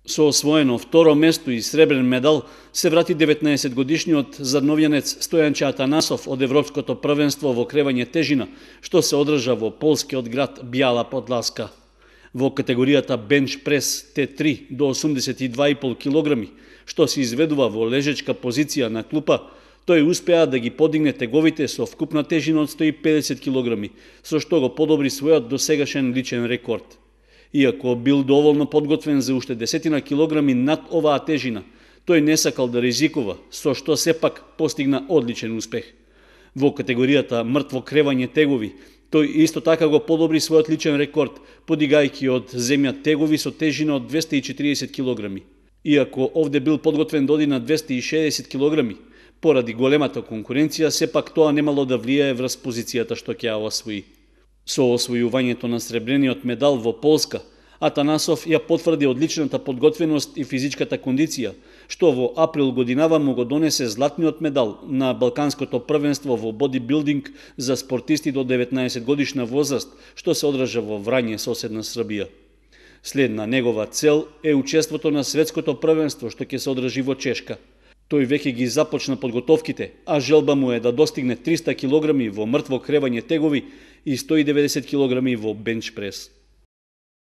Со освоено второ место и сребрен медал се врати 19-годишниот задновјанец Стојанче Атанасов од Европското првенство во кревање тежина, што се одржа во полскиот град Бјала Подласка. Во категоријата бенч прес Т3 до 82,5 килограми, што се изведува во лежечка позиција на клупа, тој успеа да ги подигне теговите со вкупна тежина од 150 килограми, со што го подобри својот досегашен личен рекорд. Иако бил доволно подготвен за уште 10 килограми над оваа тежина, тој не сакал да ризикува, со што сепак постигна одличен успех. Во категоријата мртво кревање тегови, тој исто така го подобри својот личен рекорд, подигајќи од земја тегови со тежина од 240 килограми. Иако овде бил подготвен да оди на 260 килограми, поради големата конкуренција, сепак тоа немало да влијае врз позицијата што ќе ја освои. Со освојувањето на сребрениот медал во Полска, Атанасов ја потврди одличната подготвеност и физичката кондиција, што во април годинава му го донесе златниот медал на Балканското првенство во бодибилдинг за спортисти до 19 годишна возраст, што се одржа во Врање, соседна Србија. Следна негова цел е учеството на светското првенство што ќе се одржи во Чешка. Тој веќе ги започна подготовките, а желба му е да достигне 300 килограми во мртво кревање тегови и 190 килограми во бенч прес.